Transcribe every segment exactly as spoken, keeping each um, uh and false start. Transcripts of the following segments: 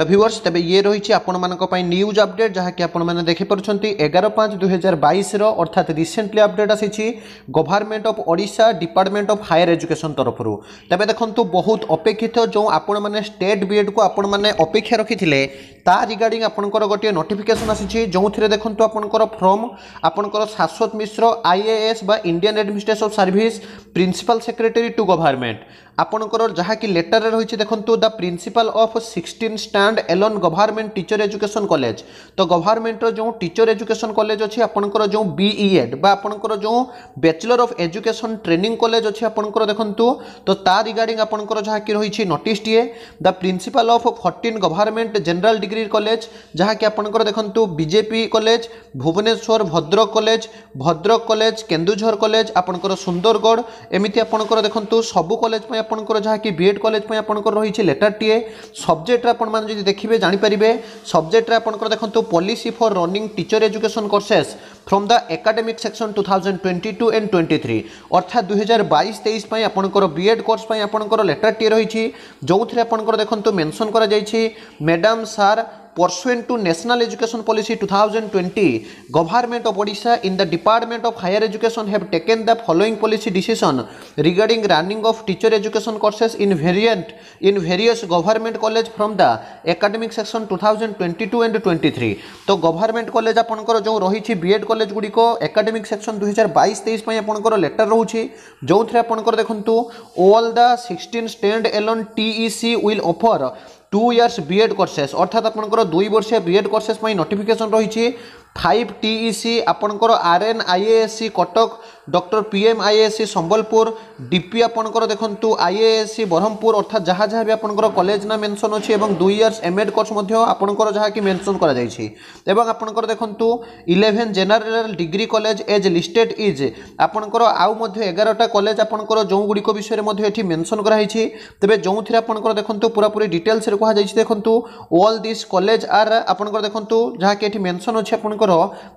Viewers, ତେବେ ଇଏ ରହିଛି ଆପଣମାନଙ୍କ ପାଇଁ ନ୍ୟୁଜ୍ ଅପଡେଟ୍, ଯାହାକି ଆପଣମାନେ ଦେଖିପାରୁଛନ୍ତି ଏଗାର ପାଞ୍ଚ ଦୁଇହଜାର ବାଇଶର, ଅର୍ଥାତ୍ ରିସେଣ୍ଟଲି ଅପଡେଟ୍ ଆସିଛି Government of Odisha, Department of Higher Education ତରଫରୁ। ତେବେ ଦେଖନ୍ତୁ, ବହୁତ ଅପେକ୍ଷିତ ଯେଉଁ ଆପଣମାନେ ଷ୍ଟେଟ୍ ବିଏଡ଼୍କୁ ଆପଣମାନେ ଅପେକ୍ଷା ରଖିଥିଲେ, ତା ରିଗାର୍ଡ଼ିଂ ଆପଣଙ୍କର ଗୋଟିଏ ନୋଟିଫିକେସନ୍ ଆସିଛି, ଯେଉଁଥିରେ ଦେଖନ୍ତୁ ଆପଣଙ୍କର ଫ୍ରମ୍ ଆପଣଙ୍କର ଶାଶ୍ୱତ ମିଶ୍ର ଆଇଏଏସ୍ ବା Indian Administration Service, Principal Secretary to Government। ଆପଣଙ୍କର ଯାହାକି ଲେଟରରେ ରହିଛି ଦେଖନ୍ତୁ, the principal of sixteen stand alone government teacher education college। ତ ଗଭର୍ଣ୍ଣମେଣ୍ଟର ଯେଉଁ ଟିଚର ଏଜୁକେସନ୍ କଲେଜ ଅଛି, ଆପଣଙ୍କର ଯେଉଁ ବିଇଏଡ୍ ବା ଆପଣଙ୍କର ଯେଉଁ Bachelor of Education Training College ଅଛି ଆପଣଙ୍କର ଦେଖନ୍ତୁ, ତ ତା ରିଗାର୍ଡ଼ିଂ ଆପଣଙ୍କର ଯାହାକି ରହିଛି ନୋଟିସଟିଏ। The principal of fourteen government general degree college, ଯାହାକି ଆପଣଙ୍କର ଦେଖନ୍ତୁ BJP college Bhubaneswar, Bhadrak college, Bhadrak college, Keonjhar college, ଆପଣଙ୍କର ସୁନ୍ଦରଗଡ଼, ଏମିତି ଆପଣଙ୍କର ଦେଖନ୍ତୁ ସବୁ କଲେଜ ପାଇଁ ଆପଣଙ୍କର ଯାହାକି ବିଏଡ୍ କଲେଜ ପାଇଁ ଆପଣଙ୍କର ରହିଛି ଲେଟରଟିଏ। ସବଜେକ୍ଟରେ ଆପଣମାନେ ଯଦି ଦେଖିବେ, ଜାଣିପାରିବେ। ସବଜେକ୍ଟରେ ଆପଣଙ୍କର ଦେଖନ୍ତୁ, policy for running teacher education courses from the academic session two thousand twenty two and twenty three। ଅର୍ଥାତ୍ ଦୁଇହଜାର ବାଇଶ ତେଇଶ ପାଇଁ ଆପଣଙ୍କର ବିଏଡ୍ କୋର୍ସ ପାଇଁ ଆପଣଙ୍କର ଲେଟରଟିଏ ରହିଛି, ଯେଉଁଥିରେ ଆପଣଙ୍କର ଦେଖନ୍ତୁ ମେନସନ୍ କରାଯାଇଛି, Madam, Sir, pursuant to National Education Policy twenty twenty, Government of Odisha in the Department of Higher Education have taken the following policy decision regarding running of teacher education courses in variant in various government college from the academic session twenty twenty-two and twenty-three। ତ government college ଆପଣଙ୍କର ଯେଉଁ ରହିଛି BEd college ଗୁଡ଼ିକ, academic section ଦୁଇହଜାର ବାଇଶ ତେଇଶ ପାଇଁ ଆପଣଙ୍କର ଲେଟର ରହୁଛି, ଯେଉଁଥିରେ ଆପଣଙ୍କର ଦେଖନ୍ତୁ, all the sixteen stand alone T E C will offer two years B Ed courses। ଅର୍ଥାତ୍ ଆପଣଙ୍କର ଦୁଇ ବର୍ଷିଆ ବିଏଡ୍ କୋର୍ସେସ୍ ପାଇଁ ନୋଟିଫିକେସନ୍ ରହିଛି। ଫାଇଭ୍ ଟିଇସି ଆପଣଙ୍କର R N IASC Cuttack, doctor P M IASC Sambalpur, DP ଆପଣଙ୍କର ଦେଖନ୍ତୁ ଆଇଏଏସ୍ସି ବ୍ରହ୍ମପୁର, ଅର୍ଥାତ୍ ଯାହା ଯାହା ବି ଆପଣଙ୍କର କଲେଜ ନାଁ ମେନସନ୍ ଅଛି ଏବଂ ଦୁଇ ଇୟର୍ସ ଏମ୍ଏଡ୍ କୋର୍ସ ମଧ୍ୟ ଆପଣଙ୍କର ଯାହାକି ମେନସନ୍ କରାଯାଇଛି। ଏବଂ ଆପଣଙ୍କର ଦେଖନ୍ତୁ eleven general degree college as listed is ଆପଣଙ୍କର ଆଉ ମଧ୍ୟ ଏଗାରଟା କଲେଜ ଆପଣଙ୍କର ଯେଉଁଗୁଡ଼ିକ ବିଷୟରେ ମଧ୍ୟ ଏଠି ମେନସନ୍ କରାହେଇଛି। ତେବେ ଯେଉଁଥିରେ ଆପଣଙ୍କର ଦେଖନ୍ତୁ ପୁରାପୁରି ଡିଟେଲ୍ସରେ କୁହାଯାଇଛି, ଦେଖନ୍ତୁ ଅଲ୍ this college ଆର୍ ଆପଣଙ୍କର ଦେଖନ୍ତୁ ଯାହାକି ଏଠି ମେନସନ୍ ଅଛି ଆପଣଙ୍କର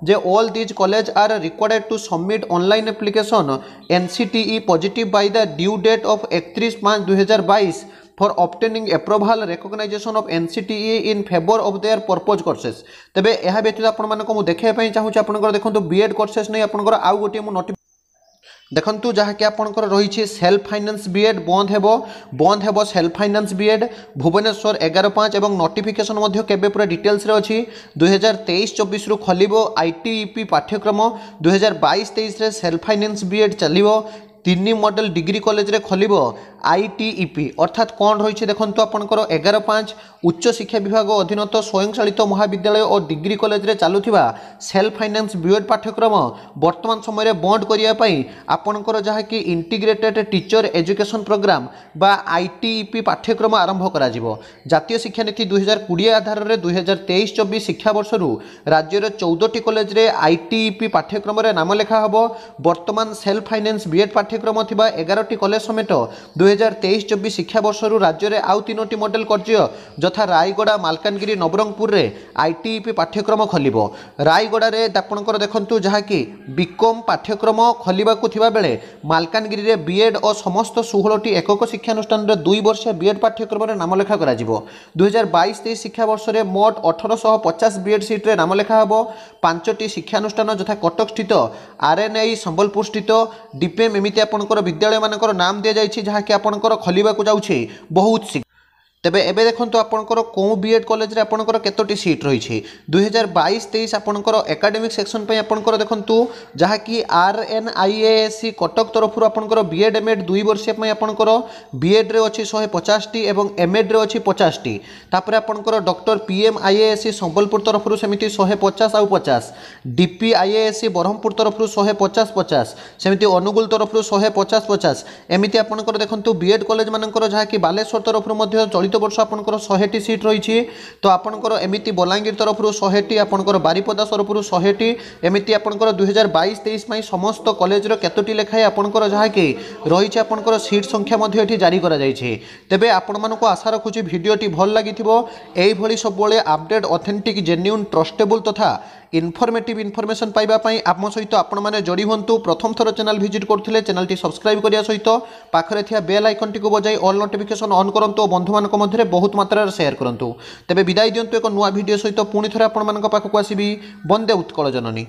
ଯେ all these college are required to submit online application N C T E positive by the due date of ଏକତିରିଶ ପାଞ୍ଚ ଦୁଇହଜାର ବାଇଶ for obtaining approval recognition of N C T E in favor of their proposed courses। ତେବେ ଏହା ବ୍ୟତୀତ ଆପଣମାନଙ୍କୁ ମୁଁ ଦେଖାଇବା ପାଇଁ ଚାହୁଁଛି, ଆପଣଙ୍କର ଦେଖନ୍ତୁ ବିଏଡ୍ କୋର୍ସେସ୍ ନେଇ ଆପଣଙ୍କର ଆଉ ଗୋଟିଏ ମୁଁ ନୋଟି ଦେଖନ୍ତୁ, ଯାହାକି ଆପଣଙ୍କର ରହିଛି ସେଲ୍ଫ ଫାଇନାନ୍ସ ବିଏଡ୍ ବନ୍ଦ ହେବ। ବନ୍ଦ ହେବ ସେଲ୍ଫ ଫାଇନାନ୍ସ ବିଏଡ୍ ଭୁବନେଶ୍ୱର ଏଗାର ପାଞ୍ଚ ଏବଂ ନୋଟିଫିକେସନ୍ ମଧ୍ୟ କେବେ ପୁରା ଡିଟେଲ୍ସରେ ଅଛି। ଦୁଇହଜାର ତେଇଶ ଚବିଶରୁ ଖୋଲିବ I T E P ପାଠ୍ୟକ୍ରମ। ଦୁଇହଜାର ବାଇଶ ତେଇଶରେ ସେଲ୍ଫ ଫାଇନାନ୍ସ ବିଏଡ୍ ଚାଲିବ। ତିନି ମଡେଲ ଡିଗ୍ରୀ କଲେଜରେ ଖୋଲିବ I T E P. ଅର୍ଥାତ୍ କ'ଣ ରହିଛି ଦେଖନ୍ତୁ ଆପଣଙ୍କର ଏଗାର ପାଞ୍ଚ, ଉଚ୍ଚଶିକ୍ଷା ବିଭାଗ ଅଧୀନସ୍ଥ ସ୍ୱୟଂଚାଳିତ ମହାବିଦ୍ୟାଳୟ ଓ ଡିଗ୍ରୀ କଲେଜରେ ଚାଲୁଥିବା ସେଲ୍ଫ ଫାଇନାନ୍ସ ବିଏଡ୍ ପାଠ୍ୟକ୍ରମ ବର୍ତ୍ତମାନ ସମୟରେ ବନ୍ଦ କରିବା ପାଇଁ ଆପଣଙ୍କର ଯାହାକି ଇଣ୍ଟିଗ୍ରେଟେଡ୍ ଟିଚର ଏଜୁକେସନ୍ ପ୍ରୋଗ୍ରାମ ବା I T E P ପାଠ୍ୟକ୍ରମ ଆରମ୍ଭ କରାଯିବ। ଜାତୀୟ ଶିକ୍ଷାନୀତି ଦୁଇହଜାର କୋଡ଼ିଏ ଆଧାରରେ ଦୁଇହଜାର ତେଇଶ ଚବିଶ ଶିକ୍ଷାବର୍ଷରୁ ରାଜ୍ୟର ଚଉଦଟି କଲେଜରେ I T E P ପାଠ୍ୟକ୍ରମରେ ନାମ ଲେଖା ହେବ। ବର୍ତ୍ତମାନ ସେଲ୍ଫ ଫାଇନାନ୍ସ ବିଏଡ୍ ପାଠ୍ୟକ୍ରମ ଥିବା ଏଗାରଟି କଲେଜ ସମେତ ଦୁଇହଜାର ତେଇଶ ଚବିଶ ଶିକ୍ଷାବର୍ଷରୁ ରାଜ୍ୟରେ ଆଉ ତିନୋଟି ମଡେଲ କଲେଜ ଯଥା ରାୟଗଡ଼ା, ମାଲକାନଗିରି, ନବରଙ୍ଗପୁରରେ I T E P ପାଠ୍ୟକ୍ରମ ଖୋଲିବ। ରାୟଗଡ଼ାରେ ଆପଣଙ୍କର ଦେଖନ୍ତୁ ଯାହାକି ବିକମ୍ ପାଠ୍ୟକ୍ରମ ଖୋଲିବାକୁ ଥିବାବେଳେ ମାଲକାନଗିରିରେ ବିଏଡ୍ ଓ ସମସ୍ତ ଷୋହଳଟି ଏକକ ଶିକ୍ଷାନୁଷ୍ଠାନରେ ଦୁଇ ବର୍ଷିଆ ବିଏଡ୍ ପାଠ୍ୟକ୍ରମରେ ନାମଲେଖା କରାଯିବ। ଦୁଇହଜାର ବାଇଶ ତେଇଶ ଶିକ୍ଷାବର୍ଷରେ ମୋଟ ଅଠରଶହ ପଚାଶ ବିଏଡ୍ ସିଟ୍ରେ ନାମଲେଖା ହେବ। ପାଞ୍ଚଟି ଶିକ୍ଷାନୁଷ୍ଠାନ ଯଥା କଟକସ୍ଥିତ ଆର୍ ଏନ୍ I, ସମ୍ବଲପୁରସ୍ଥିତ ଡିପିଏମ୍, ଏମିତି ଆପଣଙ୍କର ବିଦ୍ୟାଳୟମାନଙ୍କର ନାମ ଦିଆଯାଇଛି, ଯାହାକି ଆପଣଙ୍କର ଖୋଲିବାକୁ ଯାଉଛି ବହୁତ ଶୀଘ୍ର। ତେବେ ଏବେ ଦେଖନ୍ତୁ ଆପଣଙ୍କର କେଉଁ ବିଏଡ୍ କଲେଜରେ ଆପଣଙ୍କର କେତୋଟି ସିଟ୍ ରହିଛି। ଦୁଇହଜାର ବାଇଶ ତେଇଶ ଆପଣଙ୍କର ଏକାଡେମିକ୍ ସେକ୍ସନ୍ ପାଇଁ ଆପଣଙ୍କର ଦେଖନ୍ତୁ ଯାହାକି R N I A S C Cuttack ତରଫରୁ ଆପଣଙ୍କର ବିଏଡ୍ ଏମ୍ଏଡ୍ ଦୁଇ ବର୍ଷିଆ ପାଇଁ ଆପଣଙ୍କର ବିଏଡ୍ରେ ଅଛି ଶହେ ପଚାଶଟି ଏବଂ ଏମ୍ଏଡ୍ରେ ଅଛି ପଚାଶଟି। ତାପରେ ଆପଣଙ୍କର doctor P M I A S C Sambalpur ତରଫରୁ ସେମିତି ଶହେ ପଚାଶ ଆଉ ପଚାଶ, DP I A S C Brahmapur ତରଫରୁ ଶହେ ପଚାଶ ପଚାଶ, ସେମିତି ଅନୁଗୁଳ ତରଫରୁ ଶହେ ପଚାଶ ପଚାଶ। ଏମିତି ଆପଣଙ୍କର ଦେଖନ୍ତୁ ବିଏଡ୍ କଲେଜମାନଙ୍କର ଯାହାକି ବାଲେଶ୍ୱର ତରଫରୁ ମଧ୍ୟ ଚଳିତ ବର୍ଷ ଆପଣଙ୍କର ଶହେଟି ସିଟ୍ ରହିଛି। ତ ଆପଣଙ୍କର ଏମିତି ବଲାଙ୍ଗୀର ତରଫରୁ ଶହେଟି, ଆପଣଙ୍କର ବାରିପଦା ତରଫରୁ ଶହେଟି, ଏମିତି ଆପଣଙ୍କର ଦୁଇହଜାର ବାଇଶ ତେଇଶ ପାଇଁ ସମସ୍ତ କଲେଜର କେତୋଟି ଲେଖାଏଁ ଆପଣଙ୍କର ଯାହାକି ରହିଛି ଆପଣଙ୍କର ସିଟ୍ ସଂଖ୍ୟା ମଧ୍ୟ ଏଠି ଜାରି କରାଯାଇଛି। ତେବେ ଆପଣମାନଙ୍କୁ ଆଶା ରଖୁଛି ଭିଡ଼ିଓଟି ଭଲ ଲାଗିଥିବ। ଏଇଭଳି ସବୁବେଳେ ଅପଡେଟ୍, ଅଥେଣ୍ଟିକ୍, ଜେନ୍ୟୁନ୍, ଟ୍ରଷ୍ଟେବୁଲ୍ ତଥା ଇନଫର୍ମେଟିଭ୍ ଇନଫର୍ମେସନ୍ ପାଇବା ପାଇଁ ଆମ ସହିତ ଆପଣମାନେ ଯୋଡ଼ି ହୁଅନ୍ତୁ। ପ୍ରଥମ ଥର ଚ୍ୟାନେଲ୍ ଭିଜିଟ୍ କରୁଥିଲେ ଚ୍ୟାନେଲଟି ସବସ୍କ୍ରାଇବ୍ କରିବା ସହିତ ପାଖରେ ଥିବା ବେଲ୍ ଆଇକନ୍ଟିକୁ ବଜାଇ ଅଲ୍ ନୋଟିଫିକେସନ୍ ଅନ୍ କରନ୍ତୁ ଓ ବନ୍ଧୁମାନଙ୍କ ମଧ୍ୟରେ ବହୁତ ମାତ୍ରାରେ ସେୟାର କରନ୍ତୁ। ତେବେ ବିଦାୟ ଦିଅନ୍ତୁ, ଏକ ନୂଆ ଭିଡ଼ିଓ ସହିତ ପୁଣି ଥରେ ଆପଣମାନଙ୍କ ପାଖକୁ ଆସିବି। ବନ୍ଦେ ଉତ୍କଳ ଜନନୀ।